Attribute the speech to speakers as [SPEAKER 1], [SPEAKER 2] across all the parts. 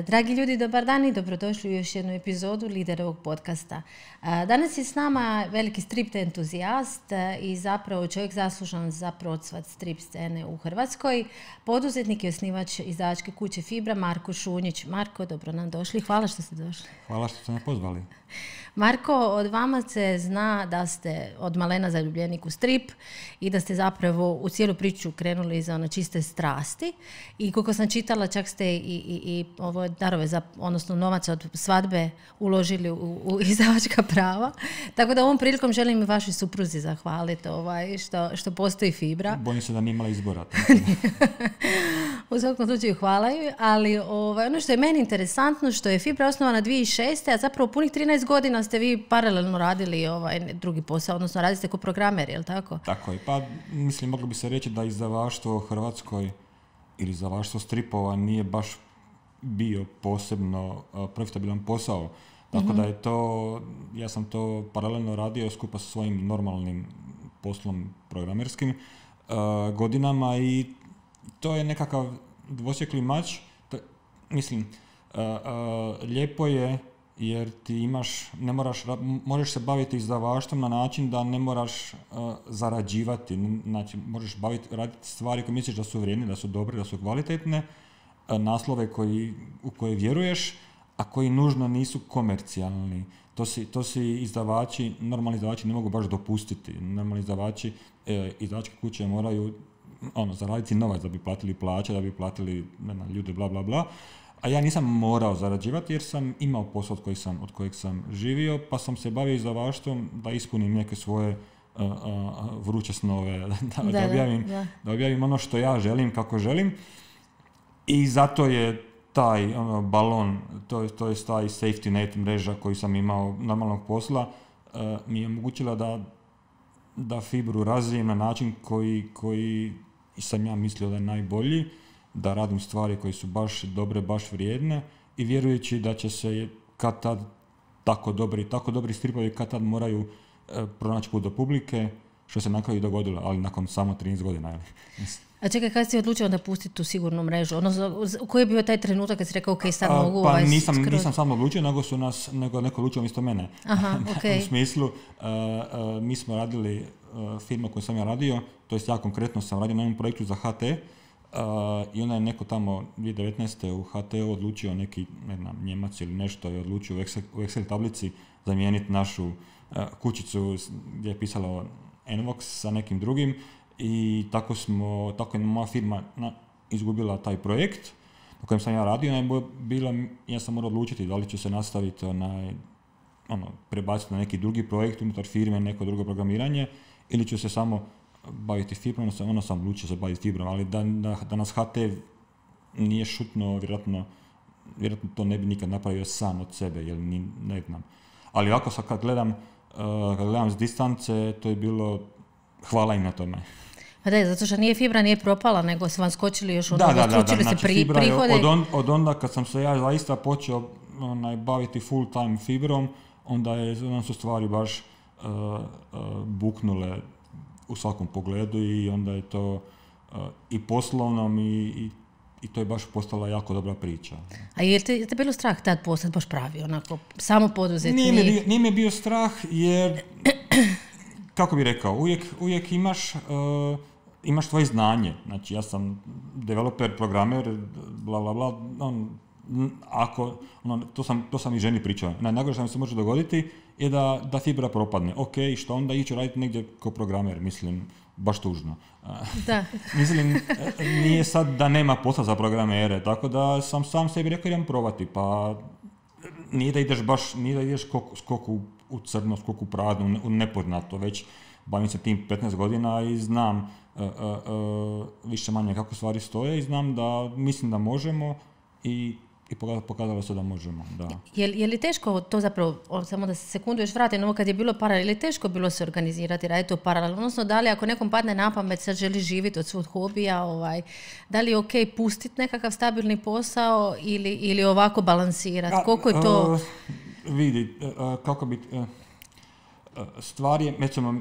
[SPEAKER 1] Dragi ljudi, dobar dan i dobrodošli u još jednu epizodu Liderovog podcasta. Danas je s nama veliki strip entuzijast i zapravo čovjek zaslužan za procvat strip scene u Hrvatskoj. Poduzetnik i osnivač izdavačke kuće Fibra, Marko Šunjić. Marko, dobro nam došli. Hvala što ste došli.
[SPEAKER 2] Hvala što ste me pozvali.
[SPEAKER 1] Marko, od vama se zna da ste od malena zaljubljenik u strip i da ste zapravo u cijelu priču krenuli za ono čiste strasti. I koliko sam čitala, čak ste i ovo darove, odnosno novac od svadbe uložili u izdavačka prava. Tako da ovom prilikom želim i vašoj supruzi zahvaliti što postoji Fibra.
[SPEAKER 2] Bojim se da nije imala izbora.
[SPEAKER 1] U svakom slučaju hvala ju, ali ono što je meni interesantno, što je Fibra osnovana 2006. a zapravo punih 13 godina ste vi paralelno radili drugi posao, odnosno radite kao programer, je li tako?
[SPEAKER 2] Tako je. Pa mislim, moglo bi se reći da izdavaštvo u Hrvatskoj ili izdavaštvo stripova nije baš bio posebno profitabilan posao. Tako da je to, ja sam to paralelno radio skupa sa svojim normalnim poslom programerskim godinama i to je nekakav dvosjekli mač. Mislim, lijepo je jer ti imaš, možeš se baviti izdavaštvom na način da ne moraš zarađivati. Znači, možeš raditi stvari koje misliš da su vrijedne, da su dobre, da su kvalitetne, naslove u koje vjeruješ, a koji nužno nisu komercijalni. To si izdavači, normalni izdavači ne mogu baš dopustiti. Normalni izdavači, izdavačke kuće moraju zaraditi novac da bi platili plaće, da bi platili ljude, bla, bla, bla. A ja nisam morao zarađivati jer sam imao posao od kojeg sam živio, pa sam se bavio izdavaštvom da ispunim neke svoje vruće snove, da objavim ono što ja želim, kako želim. I zato je taj balon, to je taj safety net mreža koju sam imao normalnog posla, mi je omogućila da Fibru razvijem na način koji sam ja mislio da je najbolji, da radim stvari koje su baš dobre, baš vrijedne i vjerujući da će se kad tad tako dobri stripovi kad tad moraju pronaći put do publike, što se na kraju dogodilo, ali nakon samo 13 godina.
[SPEAKER 1] A čekaj, kada si odlučio da pustiti tu sigurnu mrežu? Koji je bio taj trenutak kad si rekao, ok, sad mogu
[SPEAKER 2] nisam sam odlučio, nego neko odlučio umjesto mene.
[SPEAKER 1] Aha, okay.
[SPEAKER 2] U smislu, mi smo radili firma koju sam ja radio, to jest ja konkretno sam radio na jednom projektu za HT, i onda je neko tamo 2019. u HT-u odlučio, neki Njemac ili nešto, je odlučio u Excel tablici zamijeniti našu kućicu gdje je pisalo Envox sa nekim drugim i tako je moja firma izgubila taj projekt na kojem sam ja radio. Ja sam morao odlučiti da li ću se nastaviti prebaciti na neki drugi projekt unutar firme, neko drugo programiranje, ili ću se samo baviti Fibrom, onda sam odlučio se baviti Fibrom, ali da nas HT nije šutno, vjerojatno to ne bi nikad napravio sam od sebe, jer ne znam. Ali ovako sad kad gledam s distance, to je bilo, hvala im na tome.
[SPEAKER 1] Pa da, zato što Fibra nije propala, nego su vam skočili još
[SPEAKER 2] stručili
[SPEAKER 1] se prihode.
[SPEAKER 2] Od onda kad sam se ja zaista počeo baviti full time Fibrom, onda su stvari baš buknule u svakom pogledu i onda je to i poslovnom i to je baš postala jako dobra priča.
[SPEAKER 1] A je te bilo strah tad postati baš pravi, onako, samo poduzetnik?
[SPEAKER 2] Nije mi bio strah jer, kako bi rekao, uvijek imaš tvoje znanje. Znači, ja sam developer, programer, bla, bla, bla, to sam i ženi pričao. Najgore što mi se može dogoditi je da Fibra propadne. Ok, što onda ići raditi negdje kao programer, mislim, baš tužno.
[SPEAKER 1] Da.
[SPEAKER 2] Mislim, nije sad da nema posla za programere, tako da sam sam sebi rekao idem probati, pa nije da ideš skok u crno, skok u prazno, u nepoznato, već bavim se tim 15 godina i znam više manje kako stvari stoje i znam da mislim da možemo i pokazalo se da možemo, da.
[SPEAKER 1] Je li teško to zapravo, samo da se sekundu još vratim, ovo kad je bilo paralelno, je li teško bilo se organizirati, raditi to paralelno? Odnosno, da li ako nekom padne na pamet, sad želi živjeti od svog hobija, da li je ok pustiti nekakav stabilni posao ili ovako balansirati? Koliko je to?
[SPEAKER 2] Vidi, kako bi... Stvar je, recimo,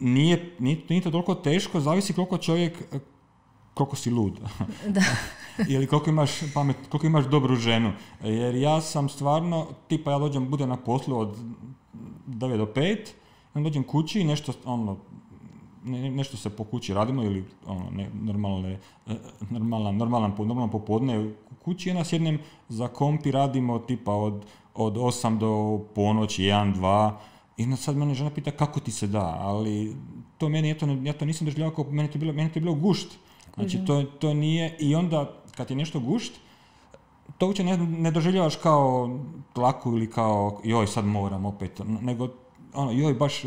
[SPEAKER 2] nije to toliko teško, zavisi koliko čovjek koliko si lud.
[SPEAKER 1] Da.
[SPEAKER 2] Ili koliko imaš pamet, koliko imaš dobru ženu. Jer ja sam stvarno, tipa ja budem na poslu od 9 do 5, onda dođem kući i nešto, nešto se po kući radimo ili normalan popodne u kući, onda sjednem za komp i radimo tipa od 8 do ponoći, 1, 2, i onda sad mene žena pita kako ti se da, ali to meni, ja to nisam doživljavao kao, meni to je bilo gušt. Znači to nije, i onda kad je nešto gušt, to uopće ne doživljavaš kao tlaku ili kao joj sad moram opet, nego joj baš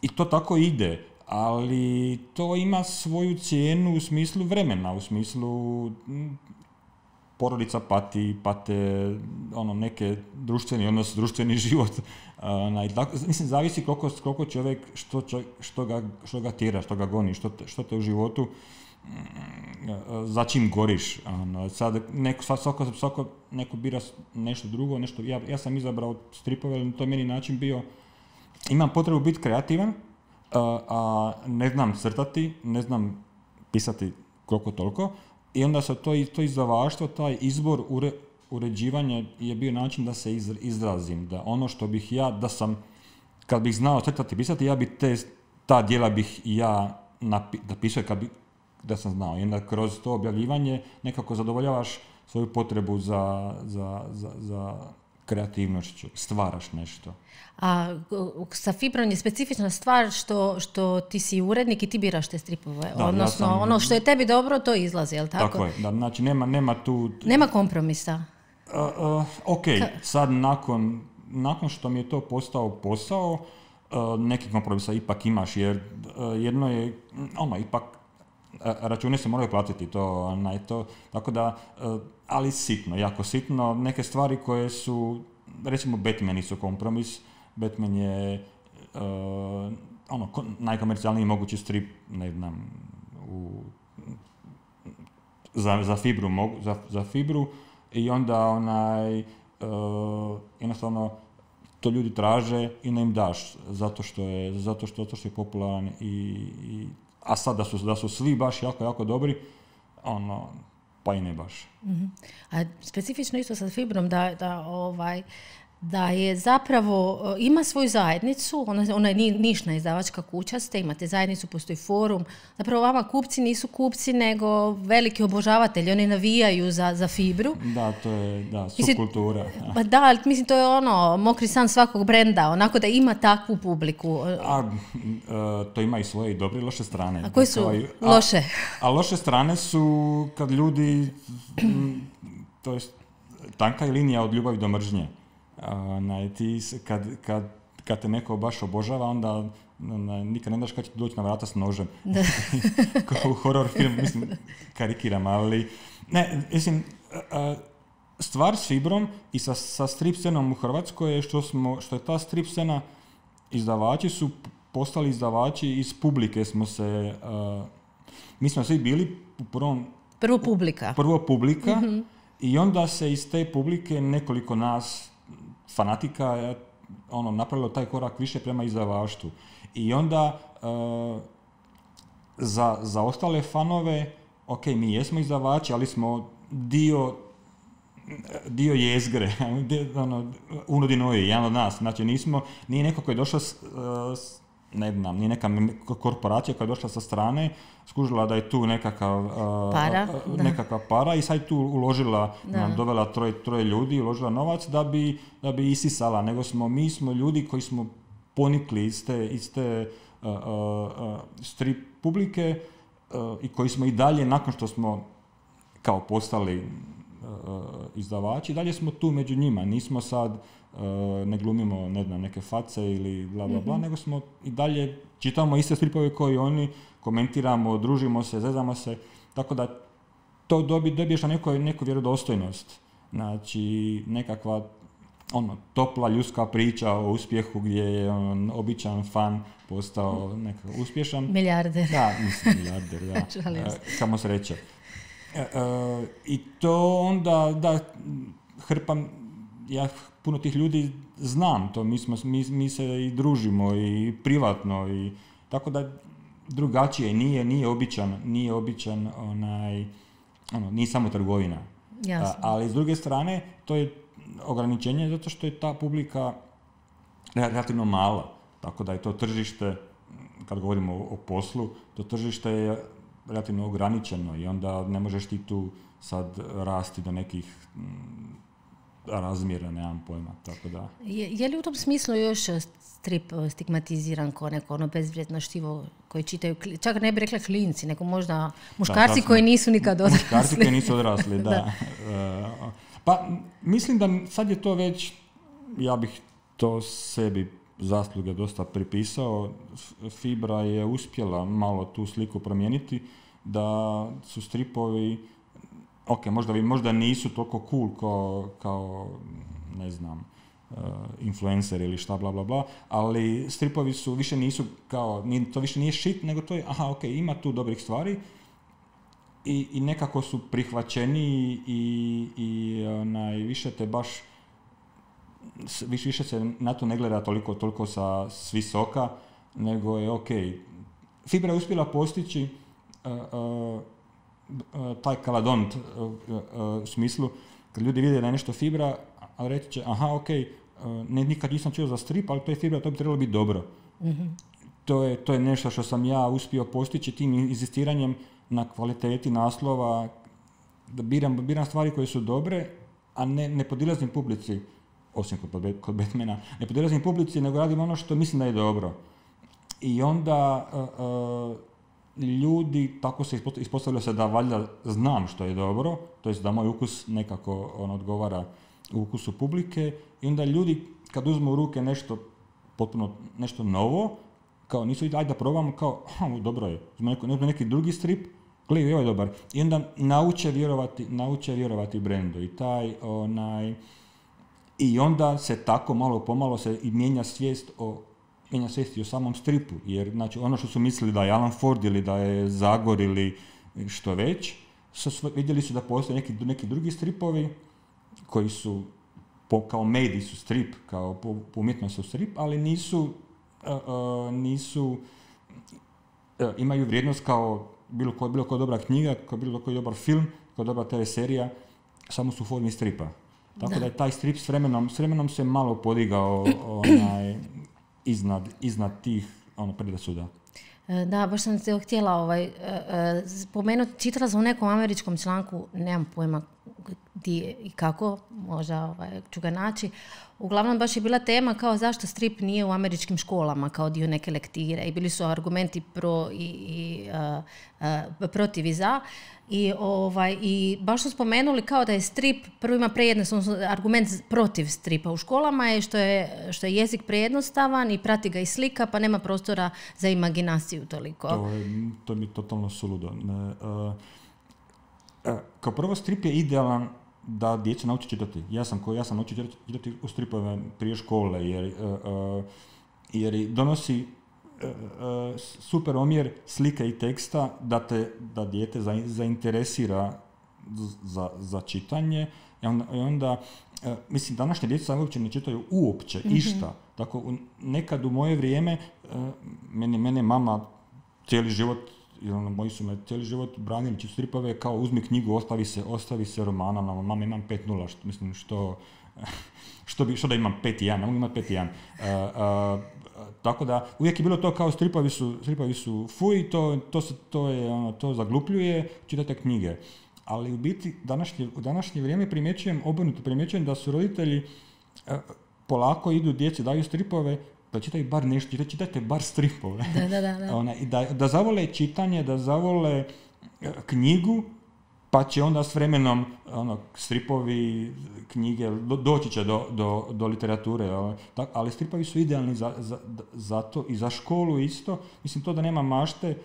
[SPEAKER 2] i to tako ide, ali to ima svoju cijenu u smislu vremena, u smislu porodica pate neke društveni odnos, društveni život. Mislim, zavisi koliko čovjek, što ga tjera, što ga goni, što te u životu, za čim goriš. Sad svako neko bira nešto drugo, ja sam izabrao stripove, ali to je meni način bio, imam potrebu biti kreativan, a ne znam crtati, ne znam pisati koliko toliko, i onda se to izdavaštvo, taj izbor uređivanja je bio način da se izrazim, da ono što bih ja, kad bih znao crtati, pisati, ja bi ta djela bih ja napisao da sam znao. I onda kroz to objavljivanje nekako zadovoljavaš svoju potrebu za kreativnošću, stvaraš nešto.
[SPEAKER 1] A sa Fibrom je specifična stvar što ti si urednik i ti biraš te stripove. Da, odnosno, ono što je tebi dobro, to izlazi, je li tako?
[SPEAKER 2] Tako je, da, znači nema tu...
[SPEAKER 1] Nema kompromisa.
[SPEAKER 2] Ok, sad nakon što mi je to postao posao, neki kompromisa ipak imaš, jer jedno je, ipak račune se moraju platiti, to, tako da, ali sitno, jako sitno, neke stvari koje su, recimo Batmani su kompromis, Batman je najkomercijalniji mogući strip, ne znam, za Fibru, i onda jednostavno to ljudi traže i ne im daš zato što je popularan a sad da su svi baš jako, jako dobri, pa i ne baš.
[SPEAKER 1] Mm-hmm. A specifično isto sa Fibrom da je zapravo, ima svoju zajednicu, ona je nišna izdavačka kuća, imate zajednicu, postoji forum, zapravo vama kupci nisu kupci, nego veliki obožavatelji, oni navijaju za Fibru.
[SPEAKER 2] Da, to je, subkultura.
[SPEAKER 1] Pa da, ali mislim, to je mokri san svakog brenda, onako da ima takvu publiku.
[SPEAKER 2] To ima i svoje i dobre i loše strane.
[SPEAKER 1] A koje su loše? A
[SPEAKER 2] loše strane su kad ljudi, to je tanka je linija od ljubavi do mržnje. Kad te neko baš obožava, onda nikad ne daš kad će doći na vrata s nožem. Kao u horror film, mislim, karikiram, ali ne, mislim, stvar s Fibrom i sa strip scenom u Hrvatskoj je što je ta strip scena, izdavači su postali izdavači iz publike, mi smo svi bili u prvo publika, mm-hmm. I onda se iz te publike nekoliko nas fanatika napravilo taj korak više prema izdavaštvu. I onda za ostale fanove, ok, mi jesmo izdavači, ali smo dio jezgre, unudi noje, jedan od nas. Znači nije neko koji je došao nije neka korporacija koja je došla sa strane, skužila da je tu nekakva para i sad tu uložila, dovela troje ljudi, uložila novac da bi isisala, nego mi smo ljudi koji smo ponikli iz te strip publike i koji smo i dalje, nakon što smo kao postali izdavači, dalje smo tu među njima, nismo sad ne glumimo, ne znam, neke face ili bla bla bla, nego smo i dalje čitamo iste stripove koji oni, komentiramo, družimo se, zezamo se, tako da to dobiješ na neku vjerodostojnost. Znači, nekakva topla ljudska priča o uspjehu gdje je običan fan postao nekako uspješan.
[SPEAKER 1] Milijarder.
[SPEAKER 2] Da, mislim milijarder, da. Kamo sreće. I to onda, da, ja puno tih ljudi znam, to mi se i družimo i privatno, i tako da drugačije, nije običan nije samo trgovina. Ali s druge strane, to je ograničenje zato što je ta publika relativno mala. Tako da je to tržište, kad govorimo o poslu, to tržište je relativno ograničeno i onda ne možeš ti tu sad rasti do nekih razmjera, nemam pojma, tako da...
[SPEAKER 1] Je li u tom smislu još strip stigmatiziran kao neko bezvrijedno štivo koji čitaju, čak ne bi rekla klinci, nego možda muškarci koji nisu nikad odrasli.
[SPEAKER 2] Muškarci koji nisu odrasli, da. Pa mislim da sad je to već, ja bih to sebi zasluge dosta pripisao. Fibra je uspjela malo tu sliku promijeniti, da su stripovi, možda nisu toliko cool kao ne znam, influencer ili šta bla bla bla, ali stripovi su više nisu kao, to više nije shit, nego to je, ima tu dobrih stvari i nekako su prihvaćeni i više te baš više se na to ne gleda toliko s visoka, nego je Fibra je uspjela postići taj kaladont u smislu, kad ljudi vide da je nešto Fibra, a reći će, nikad nisam čuo za strip, ali to je Fibra, to bi trebalo biti dobro. Mm-hmm. To je nešto što sam ja uspio postići tim inzistiranjem na kvaliteti naslova, da biram stvari koje su dobre, a ne podilazim publici, osim kod Batmana, ne podilazim publici, nego radim ono što mislim da je dobro. I onda ljudi, tako se ispostavilo se da valjda znam što je dobro, to jest da moj ukus nekako odgovara ukusu publike, i onda ljudi kad uzmu u ruke nešto novo, kao nisu ajde da probamo, kao dobro je, uzme neki drugi strip, gledaj, ovo je dobar, i onda nauče vjerovati brendu i onda se tako malo pomalo se i mijenja svijest i o samom stripu, jer znači ono što su mislili da je Alan Ford ili da je Zagor ili što već, vidjeli su da postoje neki drugi stripovi koji su kao mediji su strip, kao po umjetnosti su strip, ali nisu imaju vrijednost kao bilo koja dobra knjiga, kao bilo koji dobar film, kao dobra TV serija, samo su u formi stripa. Tako da je taj strip s vremenom se malo podigao iznad tih predrasuda.
[SPEAKER 1] Da, baš sam se htjela spomenuti, čitala sam u nekom američkom članku, nemam pojma gdje i kako, možda ću ga naći. Uglavnom baš je bila tema kao zašto strip nije u američkim školama kao dio neke lektire i bili su argumenti pro i protiv i za. I baš su spomenuli kao da je strip, prvo ima prejednostavan argument protiv stripa u školama je što je jezik prejednostavan i prati ga i slika, pa nema prostora za imaginaciju toliko.
[SPEAKER 2] To mi je totalno suludo. Kao prvo, strip je idealan da djeca nauči čitati. Ja sam naučio čitati u stripove prije škole, jer donosi super omjer slike i teksta da dijete zainteresira za čitanje. I onda mislim, današnje djeca uopće ne čitaju uopće išta. Tako, nekad u moje vrijeme mene mama cijeli život, moji su me cijeli život branili stripove, kao uzmi knjigu, ostavi se romana, mama imam 5.0, mislim što da imam 5.1, ne mogu imati 5.1. Tako da uvijek je bilo to kao stripovi su fuj, to zaglupljuje, čitate knjige. Ali u biti u današnje vrijeme primjećujem da su roditelji polako idu djeci, daju stripove, da čitaju bar nešto, čitajte bar stripove.
[SPEAKER 1] Da.
[SPEAKER 2] I da zavole čitanje, da zavole knjigu, pa će onda s vremenom stripovi, knjige, doći će do literature. Ali stripovi su idealni za to i za školu isto. Mislim, to da nema mašte,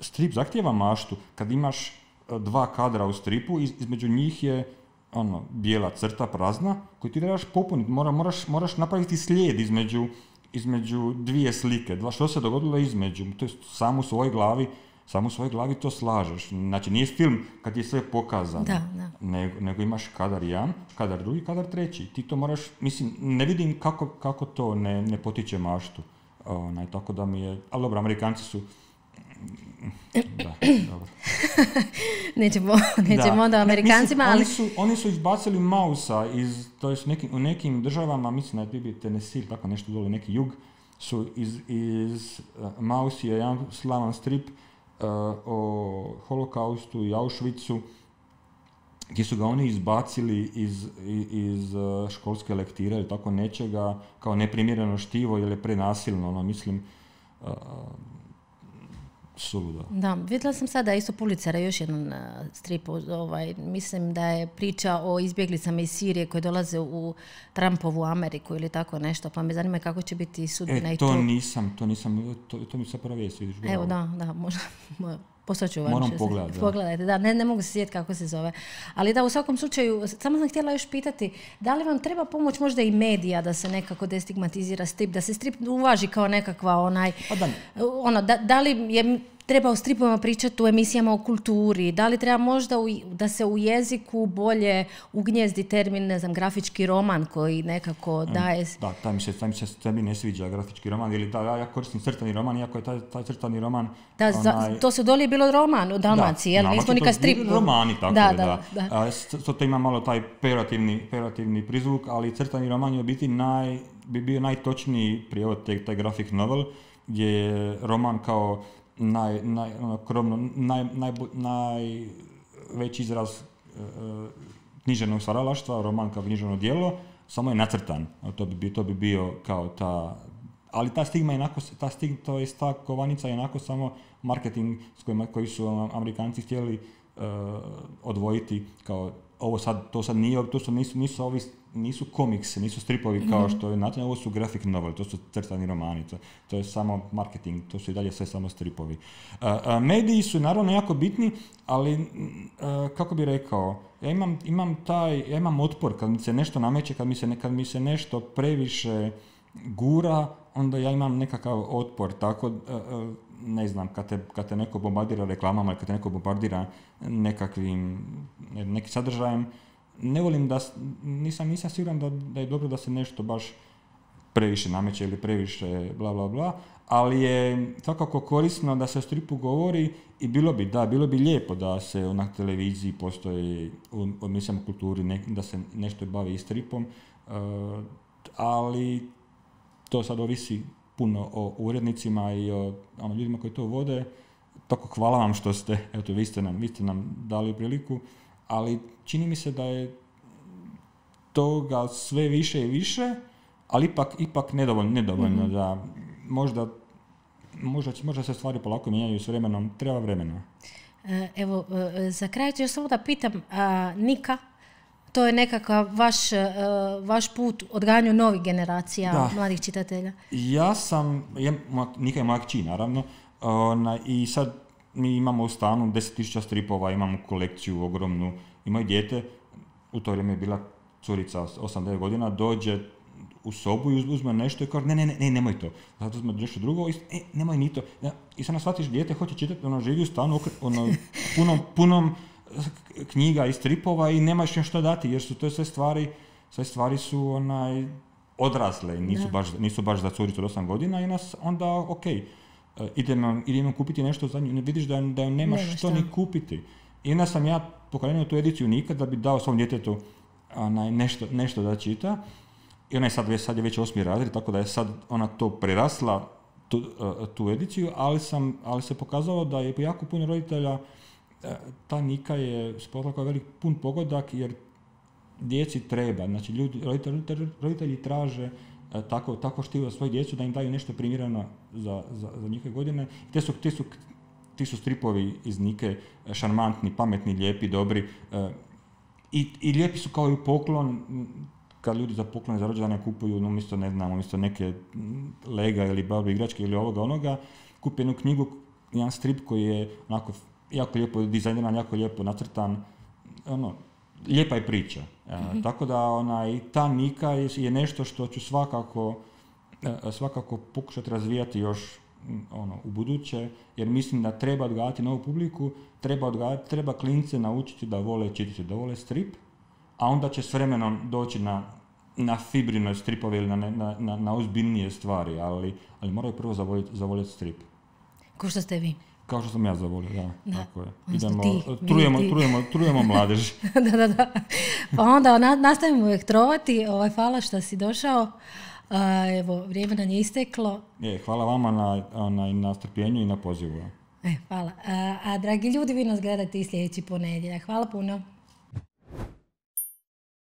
[SPEAKER 2] strip zahtijeva maštu. Kad imaš 2 kadra u stripu, između njih je bijela crta prazna koju ti trebaš popuniti. Moraš napraviti slijed između dvije slike. Što se dogodilo između? To je samo u svojoj glavi to slažeš. Znači, nije film kad je sve pokazano.
[SPEAKER 1] Da.
[SPEAKER 2] Nego imaš kadar jedan, kadar drugi, kadar treći. Ti to moraš, mislim, ne vidim kako to ne potiče maštu. Tako da mi je, ali dobro, Amerikanci su da, dobro.
[SPEAKER 1] nećemo onda Amerikancima, ali...
[SPEAKER 2] Oni su izbacili Mausa to jest u nekim državama, mislim da je bio Tennessee, tako nešto dole, neki jug, su iz Maus je jedan slavan strip o Holokaustu i Auschwitzu, gdje su ga oni izbacili iz školske lektire ili tako nečega, kao neprimjereno štivo ili je prenasilno, mislim, suludo.
[SPEAKER 1] Da, vidjela sam sada isto Pulitzera, još jedan strip, mislim da je priča o izbjeglicama iz Sirije koje dolaze u Trumpovu Ameriku ili tako nešto, pa me zanima kako će biti sudbina i
[SPEAKER 2] to nisam, to mi se prva vijest, vidiš.
[SPEAKER 1] Evo, da, možda... Poslaću vam.
[SPEAKER 2] Moram pogledati.
[SPEAKER 1] Pogledajte, da, ne mogu se sjetiti kako se zove. Ali da, u svakom slučaju, samo sam htjela još pitati, da li vam treba pomoć možda i medija da se nekako destigmatizira strip, da se strip uvaži kao nekakva da li je treba o stripovima pričati u emisijama o kulturi, da li treba možda da se u jeziku bolje ugnjezdi termin, ne znam, grafički roman koji nekako daje...
[SPEAKER 2] Da, taj mi ne sviđa grafički roman, ili ja koristim crtani roman, iako je taj crtani roman...
[SPEAKER 1] To se dolje bilo roman u Dalmaciji, jel? Nismo nikad strip...
[SPEAKER 2] Romani, tako da. To ima malo taj pejorativni prizvuk, ali crtani roman je u biti bi bio najtočniji prijevod taj graphic novel, gdje je roman kao najveći izraz književnog stvaralaštva, roman kao književno djelo, samo je nacrtan. To bi bio kao ta... Ali ta stigma je ta kovanica je onako samo marketing koji su Amerikanci htjeli odvojiti kao nisu komiksi, nisu stripovi kao što je nacionalno, ovo su graphic novel, to su crtani romani, to je samo marketing, to su i dalje sve samo stripovi. Mediji su naravno jako bitni, ali kako bi rekao, ja imam otpor kad mi se nešto nameće, kad mi se nešto previše gura, onda ja imam nekakav otpor, tako ne znam, kad te neko bombardira reklamama, kad te neko bombardira nekim sadržajem, ne volim nisam siguran da je dobro da se nešto baš previše nameće ili previše bla bla bla, ali je svakako korisno da se o stripu govori i bilo bi lijepo da se na televiziji postoji u emisijama kulturi da se nešto bavi i stripom, ali to sad ovisi puno o urednicima i o ljudima koji to vode. Tako hvala vam što ste, eto vi ste nam dali priliku, ali čini mi se da je toga sve više i više, ali ipak nedovoljno da možda se stvari polako mijenjaju s vremenom, treba vremena.
[SPEAKER 1] Evo, za kraj ću još samo da pitam, Nika, to je nekakav vaš put odgajanju novih generacija mladih čitatelja? Nika je moja kći, naravno,
[SPEAKER 2] i sad mi imamo u stanu 10.000 stripova, imamo kolekciju ogromnu, i moje dijete, u to vrijeme je bila curica 8-9 godina, dođe u sobu i uzme nešto i kaže ne, nemoj to. Zato uzme nešto drugo i nemoj ni to. I sad shvatiš, dijete hoće čitati, živi u stanu punom knjiga i stripova i nemaš nešto dati, jer su to sve stvari su odrasle, nisu baš za curicu od 8 godina i onda idemo kupiti nešto za nju, ne vidiš da nemaš što ni kupiti. I onda sam ja pokrenuo tu ediciju Nika da bi dao svom djetetu nešto da čita. I ona je sad je već 8. razred, tako da je sad ona to prerasla, tu ediciju, ali se pokazalo da je jako puno roditelja, ta Nika je spotla kao velik pun pogodak, jer djeci treba, znači roditelji traže tako štivo za svoju djecu da im daju nešto primjereno za njihove godine. Ti su stripovi iz Nike šarmantni, pametni, lijepi, dobri i lijepi su kao i poklon. Kad ljudi za poklone za rođendane kupuju umjesto neke lega ili babi igračke ili ovoga onoga, kupe jednu knjigu, jedan strip koji je onako jako lijepo dizajniran, jako lijepo nacrtan, lijepa je priča. Tako da ta Nika je nešto što ću svakako pokušati razvijati još u buduće, jer mislim da treba odgajati novu publiku, treba klince naučiti da vole čitati, da vole strip, a onda će s vremenom doći na na fibrinoj stripove ili na ozbiljnije stvari, ali moraju prvo zavoljeti strip.
[SPEAKER 1] Ko što ste vi.
[SPEAKER 2] Kao što sam ja zavolio, da. Tako je.
[SPEAKER 1] Idemo,
[SPEAKER 2] trujemo mladež.
[SPEAKER 1] Da. Pa onda nastavimo uvijek trovati. Hvala što si došao. Evo, vrijeme nam je isteklo.
[SPEAKER 2] Hvala vama na strpljenju i na pozivu.
[SPEAKER 1] Hvala. A dragi ljudi, vi nas gledate i sljedeći ponedjeljak. Hvala puno.